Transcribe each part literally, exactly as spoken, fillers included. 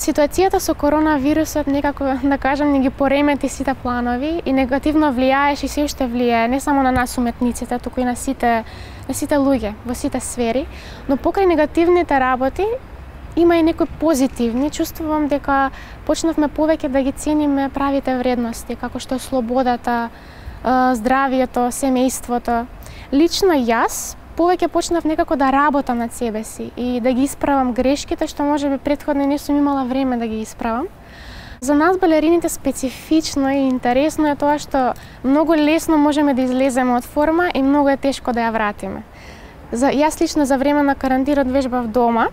Ситуацијата со коронавирусот некако, да кажам, не ги поремети сите планови и негативно влијаеше и се уште влијае не само на нас уметниците, туку и на сите на сите луѓе во сите сфери, но покрај негативните работи има и некои позитивни. Чувствувам дека почнавме повеќе да ги цениме правите вредности, како што е слободата, здравието, семејството. Лично јас повеќе почнав некако да работам над себе си и да ги исправам грешките што можеби претходно не сум имала време да ги исправам. За нас балерините специфично и интересно е тоа што многу лесно можеме да излеземе од форма и многу е тешко да ја вратиме. За јас лично за време на карантинот вежбав дома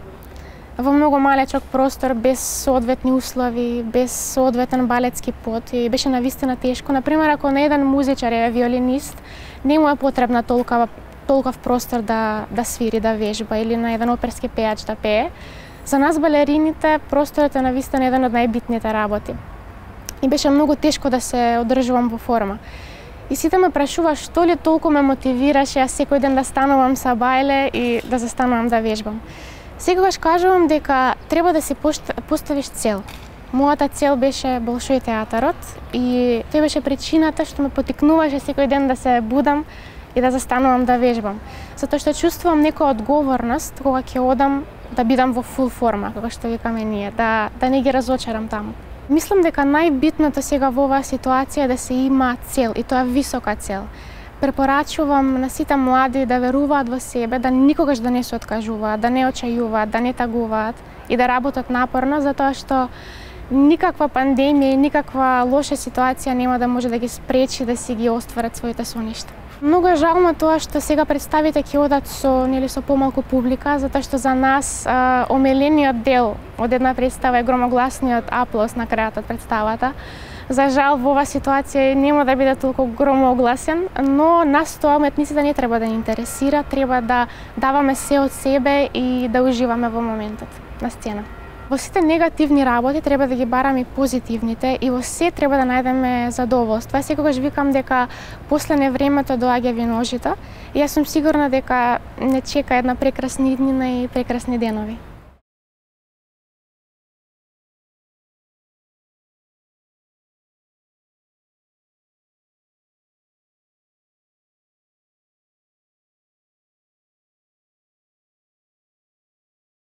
во многу малечок простор, без соодветни услови, без соодветен балетски пот и беше навистина тешко. Например, ако на еден музичар е виолинист, не му е потребна толкова толков простор да да свири, да вежба или на еден оперски пејач да пее. За нас балерините просторот е навистина еден од најбитните работи. И беше многу тешко да се одржувам во форма. И сите ме прашува што ли толку ме мотивираше јас секој ден да станувам са бајле и да застанувам да вежбам. Секогаш кажувам дека треба да си поставиш цел. Мојата цел беше Болшој театарот и тоа беше причината што ме потикнуваше секој ден да се будам и да застанувам да вежбам. Затоа што чувствувам некоја одговорност кога ќе одам да бидам во фул форма, како што викаме ние, да да не ги разочарам таму. Мислам дека најбитното сега во оваа ситуација е да се има цел и тоа висока цел. Препорачувам на сите млади да веруваат во себе, да никогаш да не се откажуваат, да не очајуваат, да не тагуваат и да работат напорно, затоа што никаква пандемија и никаква лоша ситуација нема да може да ги спречи да си ги остварат своите соништа. Многу е жално тоа што сега представите ќе одат со нели со помалку публика, затоа што за нас а, омелениот дел од една представа е громогласниот аплауз на крајот од представата. За жал во оваа ситуација нема да биде толку громогласен, но нас тоа уметниците не треба да ни интересира, треба да даваме се од себе и да уживаме во моментот на сцена. Во сите негативни работи треба да ги бараме и позитивните и во се треба да најдеме задоволство. Јас секогаш викам дека после невремето доаѓа виножито и јас сум сигурна дека не чека една прекрасна иднина и прекрасни денови.